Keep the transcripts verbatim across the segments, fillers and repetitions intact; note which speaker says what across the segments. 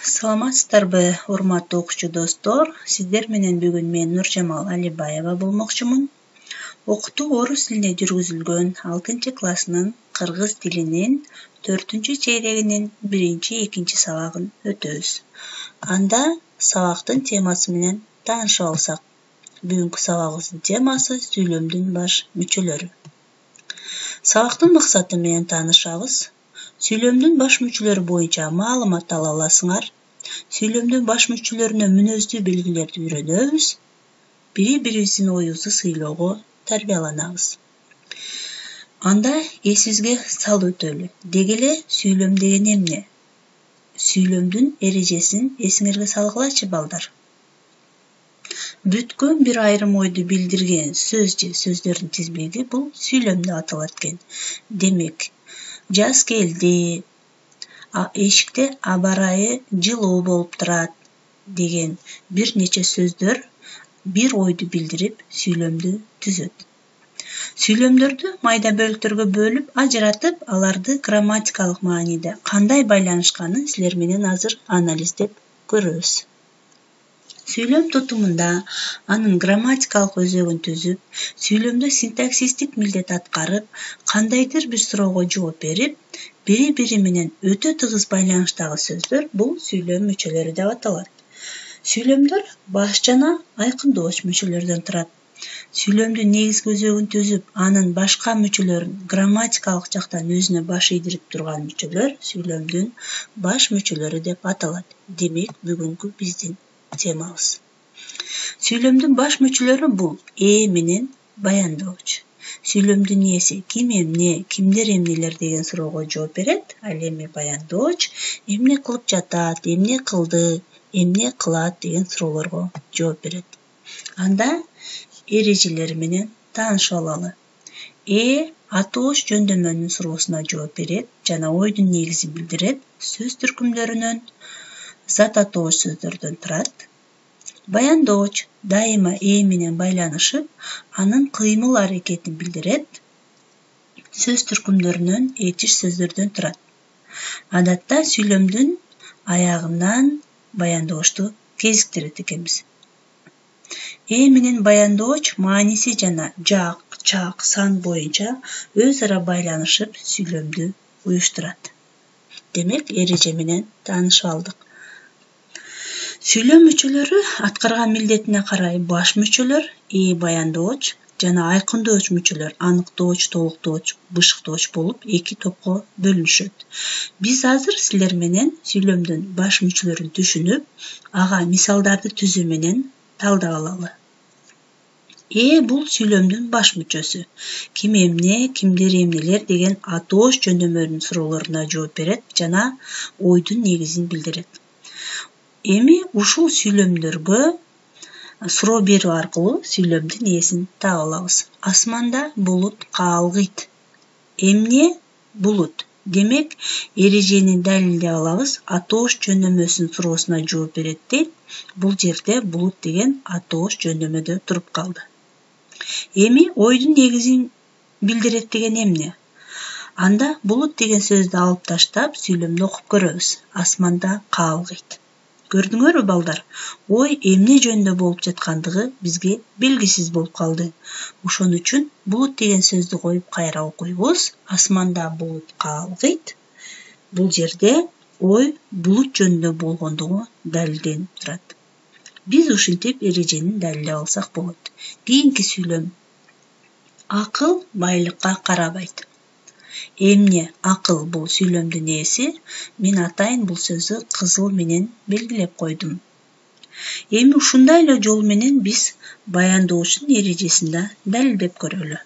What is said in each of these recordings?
Speaker 1: Саламатсыздарбы, урматтуу окуучу достор. Сиздер менен бүгүн мен Нуржамал Алибаева болмокчумун. Окутуу орус тилинде жүргүзүлгөн алтынчы класснын кыргыз тилинин төртүнчү чейрегинин биринчи, экинчи сабагын өтөбүз. Анда сабактын темасы менен таанышып алсак. Бүгүнкү сабагыбыздын темасы сүйлөмдүн баш мүчөлөрү. Сабактын максаты менен таанышабыз. Сүйлөмдүн баш мүчөлөрү боюнча маалымат ала аласыңар. Сүйлөмдүн баш мүчөлөрүнө мүнөздүү белгилерди үйрөнөбүз. Бири-бирибиздин оюбузду сыйлоого тарбияланабыз. Анда эсибизге салып өтөлү. Деги эле сүйлөм деген эмне? Сүйлөмдүн эрежесин эсиңерге салгылачы, балдар. Бүткөн бир айрым ойду билдирген сөз же сөздөрдүн тизбеги бул сүйлөм деп аталат экен. Демек, жаз келди, эшикте аба ырайы жылуу болуп турат деген бир нече сөздөр бир ойду билдирип сүйлөмдү түзөт. Сүйлөмдөрдү майда бөлүктөргө бөлүп, ажыратып, аларды грамматикалык мааниде кандай байланышканын силер менен азыр анализдеп көрөбүз. Сүйлөм тутумунда анын грамматикалык өзөгүн түзүп, сүйлөмдө синтаксистик милдет аткарып, кандайдыр бир суроого жооп берип, бири-бири менен өтө тыгыз байланыштагы сөздөр бул сүйлөм мүчөлөрү деп аталат. Сүйлөмдөр баш жана айкындоочу мүчөлөрдөн турат. Сүйлөмдүн негизги өзөгүн түзүп, анын башка мүчөлөрүн грамматикалык жактан өзүнө баш ийдирип турган мүчөлөр сүйлөмдүн баш мүчөлөрү деп аталат. Демек, бүгүнкү биздин темабыз. Сүйлөмдүн баш мүчөлөрү бул э менен баяндоочу. Сүйлөмдүн ээси ким эмне, кимдер эмнелер деген суроого жооп берет. Ал эми баяндооч эмне кылып жатат, эмне кылды, эмне кылат деген суроолорго жооп берет. Анда эрежелери менен таанышып алалы. Э атооч жөндөмөнүн суроосуна жооп берет жана ойдун негизин билдирет. Сөз түркүмдөрүнөн зат атооч сөздөрдөн турат. Баяндооч дайыма э менен байланышып, анын кыймыл аракетин билдирет. Сөз түркүмдөрүнөн этиш сөздөрдөн турат. Адатта сүйлөмдүн аягынан баяндоочту кезиктирет экенбиз. Э менен баяндооч мааниси жана жак, чак, сан боюнча өз ара байланышып сүйлөмдү уюштурат. Демек, эреже менен таанышып алдык. Сүйлөм мүчөлөрү аткарган милдетине карай баш мүчөлөр, э баяндооч жана айкындоочу мүчөлөр аныктооч, толуктооч, бышыктооч болуп эки топко бөлүнүшөт. Биз азыр силер менен сүйлөмдүн баш мүчөлөрүн түшүнүп, ага мисалдарды түзүү менен талдап алалы. Э бул сүйлөмдүн баш мүчөсү. Ким эмне, кимдер эмнелер деген атооч жөндөмөнүн суроолоруна жооп берет жана ойдун негизин билдирет. Эми ушул сүйлөмдөргө суроо берүү аркылуу сүйлөмдүн ээсин таап алабыз. Асманда булут каалгыйт. Эмне? Булут. Демек, эрежени далилдеп алабыз. Атооч жөндөмөсүнүн суроосуна жооп берет дейт. Бул жерде булут деген атооч жөндөмөдө туруп калды. Эми ойдун негизин билдирет деген эмне? Анда булут деген сөздү алып таштап, сүйлөмдү окуп көрөбүз. Асманда каалгыйт. Көрдүңөрбү, балдар? Ой эмне жөнүндө болуп жаткандыгы бизге белгисиз болуп калды. Ошон үчүн булут деген сөздү коюп кайра окуйбуз. Асманда булут каалгыйт. Бул жерде ой булут жөнүндө болгондугу далилденип турат. Биз ушинтип эрежени далилдеп алсак болот. Кийинки сүйлөм. Акыл байлыкка карабайт. Эмне? Акыл бул сүйлөмдүн ээси. Мен атайын бул сөздү кызыл менен белгилеп койдум. Эми ушундай эле жол менен биз баяндоочтун эрежесин да далилдеп көрөлү.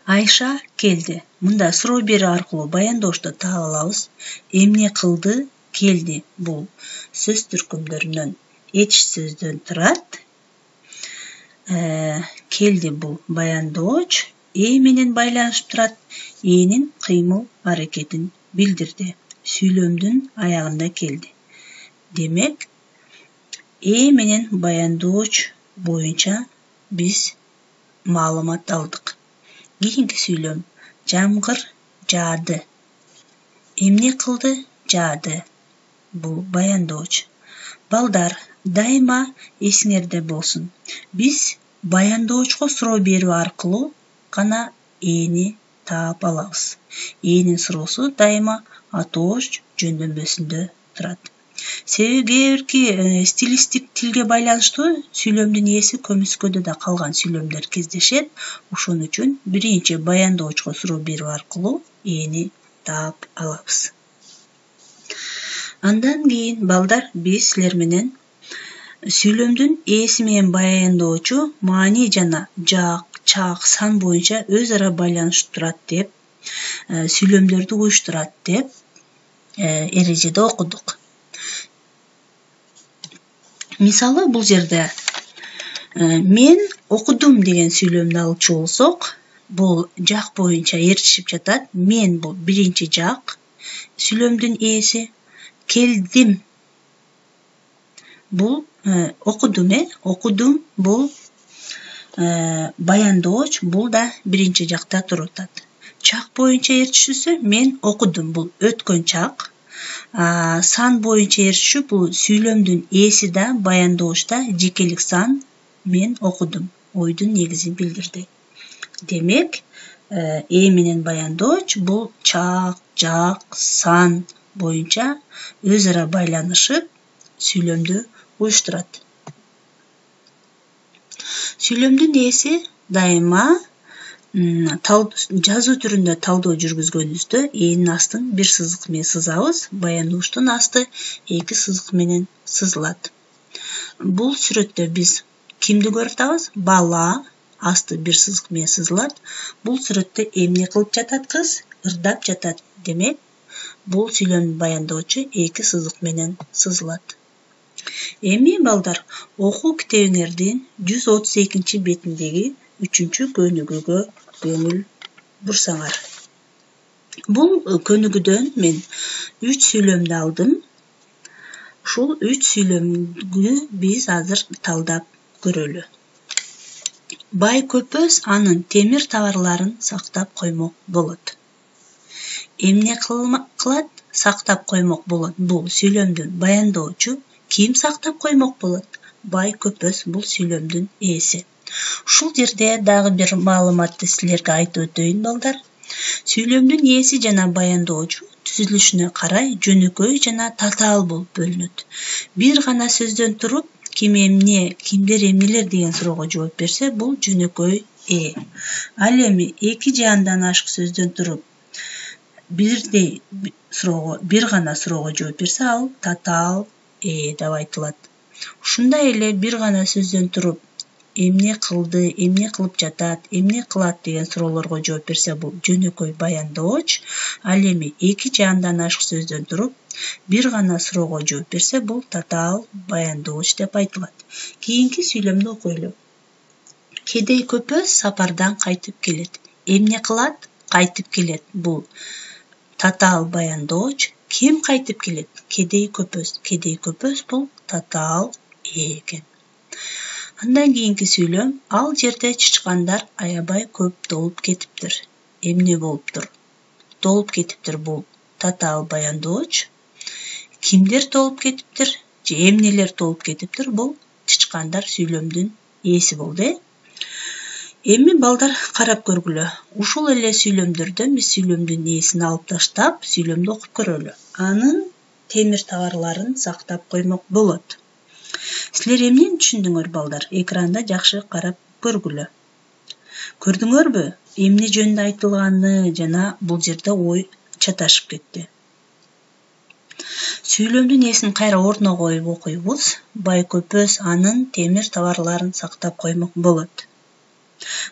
Speaker 1: Айша келди. Мында суроо берүү аркылуу баяндоочту таап алабыз. Эмне кылды? Келди. Бул сөз түркүмдөрүнөн этиш сөздөн турат. Э, келди бул баяндооч. Э менен байланышып турат. Энин кыймыл аракетин билдирди. Сүйлөмдүн аягында келди. Демек, э менен баяндооч боюнча биз маалымат алдык. Кийинки сүйлөм. Жамгыр жаады. Эмне кылды? Жаады. бул баяндооч. Балдар, дайыма эсиңерде болсун. Биз баяндоочко суроо берүү аркылуу гана эни таап алабыз. Энин суроосу дайыма атооч жөндөмбөсүндө турат. Себеби кээ бирки стилистик тилге байланыштуу сүйлөмдүн ээси көмүскөдө да калган сүйлөмдөр кездешет. Ошон үчүн биринчи баяндоочко суроо берүү аркылуу эни таап алабыз. Андан кийин балдар биз силер менен сүйлөмдүн ээси менен баяндоочу маани жана жаак, чаак, сан боюнча өз ара байланышып турат деп, сүйлөмдөрдү уюштурат деп эрежеде окудук. Мисалы, бул жерде мен окудум деген сүйлөмдү алчу болсок, бул жак боюнча ээрчишип жатат. Мен бул биринчи жак сүйлөмдүн ээси, келдим бул окудум, э окудум бул баяндооч, бул да биринчи жакта туруп атат. Чак боюнча ээрчишүүсү мен окудум бул өткөн чак. Сан боюнча ээрчишүү бул сүйлөмдүн ээси да баяндоочта жекелик сан мен окудум ойдун негизин билдирди. Демек, ээ менен баяндооч бул чак, жак, сан боюнча өз ара байланышып сүйлөмдү уюштурат. Сүйлөмдүн ээси дайыма жазуу түрүндө талдоо жүргүзгөнүбүздө энин астын бир сызык менен сызабыз, баяндоочтун асты эки сызык менен сызылат. Бул сүрөттө биз кимди көрүп атабыз? Бала, асты бир сызык менен сызылат. Бул сүрөттө эмне кылып жатат кыз? Ырдап жатат. Демек, бул сүйлөмдүн баяндоочу эки сызык менен сызылат. Эми балдар, окуу китебиңердин жүз отуз экинчи бетиндеги үчүнчү көнүгүүгө көңүл бурсаңар. Бул көнүгүүдөн мен үч сүйлөмдү алдым. Ушул үч сүйлөмдү биз азыр талдап көрөлү. Бай көпөс анын темир товарларын сактап коймок болот. Эмне кылат? Сактап коймок болот. Бул сүйлөмдүн баяндоочу. Ким сактап коймок болот? Бай көпөс бул сүйлөмдүн ээси. Ушул жерде дагы бир маалыматты силерге айтып өтөйүн балдар. Сүйлөмдүн ээси жана баяндоочу түзүлүшүнө карай жөнөкөй жана татаал болуп бөлүнөт. Бир гана сөздөн туруп, ким эмне, кимдер эмнелер деген суроого жооп берсе, бул жөнөкөй э. Ал эми эки же андан ашык сөздөн туруп, бирдей суроого, бир гана суроого жооп берсе, ал татаал э деп айтылат. Ушундай эле бир гана сөздөн туруп, эмне кылды, эмне кылып жатат, эмне кылат деген суроолорго жооп берсе, бул жөнөкөй баяндооч. Ал эми эки же андан ашык сөздөн туруп, бир гана суроого жооп берсе, бул татаал баяндооч деп айтылат. Кийинки сүйлөмдү окуйлу. Кедей көпөс сапардан кайтып келет. Эмне кылат? Кайтып келет. Бул татаал баяндооч. Ким кайтып келет? Кедей көпөс. Кедей көпөс бул татаал э экен. Андан кийинки сүйлөм, ал жерде чычкандар аябай көп толуп кетиптир. Эмне болуптур? Толуп кетиптир бул татаал баяндооч. Кимдер толуп кетиптир? Же эмнелер толуп кетиптир? Бул чычкандар сүйлөмдүн ээси болду. Эми балдар карап көргүлө. Ушул эле сүйлөмдөрдөн биз сүйлөмдүн ээсин алып таштап, сүйлөмдү окуп көрөлү. Анын темир товарларын сактап коймок болот. Силер эмнени түшүндүңөр балдар? Экранда жакшы карап көргүлө. Көрдүңөрбү? Эмне жөнүндө айтылганы жана бул жерде ой чаташып кетти. Сүйлөмдүн ээсин кайра ордуна коюп окуйбуз. Бай көпөс анын темир товарларын сактап коймок болот.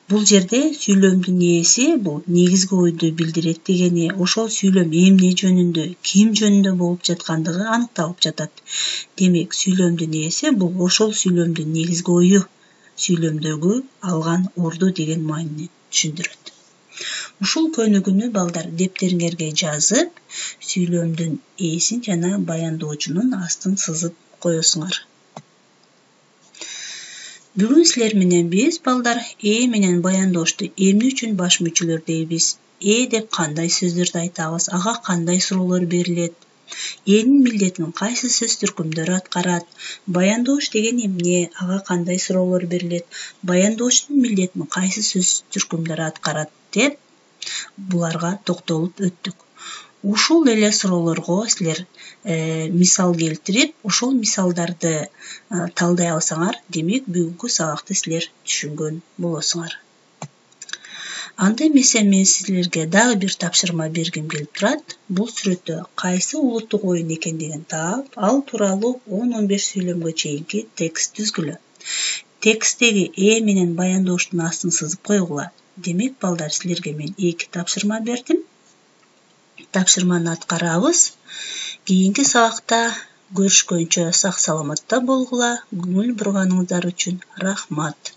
Speaker 1: Бул жерде сүйлөмдүн ээси бул негизги ойду билдирет дегени, ошол сүйлөм эмне жөнүндө, ким жөнүндө болуп жаткандыгы аныкталып жатат. Демек, сүйлөмдүн ээси бул ошол сүйлөмдүн негизги ою, сүйлөмдөгү алган орду деген маанини түшүндүрөт. Ушул көнүгүүнү балдар дептериңерге жазып, сүйлөмдүн ээсин жана баяндоочунун астын сызып коесуңар. Бүгүн силер менен биз балдар э менен баяндоочту эмне үчүн баш мүчөлөр дейбиз? Э деп кандай сөздөрдү айтабыз? Ага кандай суроолор берилет? Энин милдетин кайсы сөз түркүмдөрү аткарат? Баяндооч деген эмне? Ага кандай суроолор берилет? Баяндоочтун милдетин кайсы сөз түркүмдөрү аткарат деп буларга токтолуп өттүк. Ушул эле суроолорго силер мисал келтирип, ошол мисалдарды талдай алсаңар, демек бүгүнкү сабакты силер түшүнгөн болосуңар. Анда эмесе мен силерге дагы бир тапшырма бергим келип турат. Бул сүрөттө кайсы улуттук оюн экендигин таап, ал тууралуу он он беш сүйлөмгө чейинки текст түзгүлө. Тексттеги э менен баяндоочтун астын сызып койгула. Демек, балдар, силерге мен эки тапшырма бердим. Тапшырманы аткарабыз. Кийинки сабакта көрүшкөнчө сак саламатта болгула. Көңүл бурганыңыздар үчүн рахмат.